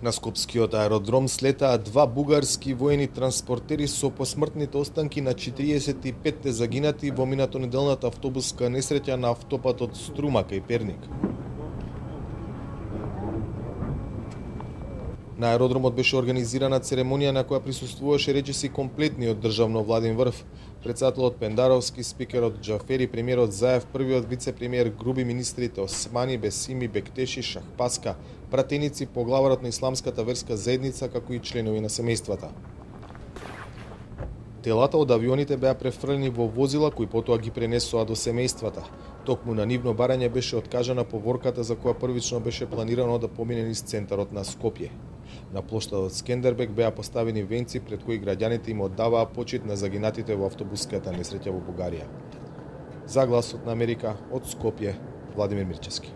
На скопскиот аеродром слетаа два бугарски воени транспортери со посмртните останки на 45 загинати во минатонеделната автобуска несреќа на автопатот Струма кај Перник. На аеродромот беше организирана церемонија на која присуствуваше речиси комплетниот државно-владин врв, председателот Пендаровски, спикерот Џафери, премиерот Заев, првиот вице-премиер Груби, министрите Османи, Бесими, Бектеши, Шахпаска, пратеници, поглаварот на исламската верска заедница, како и членови на семејствата. Телата од авионите беа префрлени во возила кои потоа ги пренесоа до семејствата. Токму на нивно барање беше откажана поворката за која првично беше планирано да помине низ центарот на Скопје. На плоштадот Скендербек беа поставени венци пред кои граѓаните им оддаваа почит на загинатите во автобуската несреќа во Бугарија. За Гласот на Америка од Скопје, Владимир Мирчевски.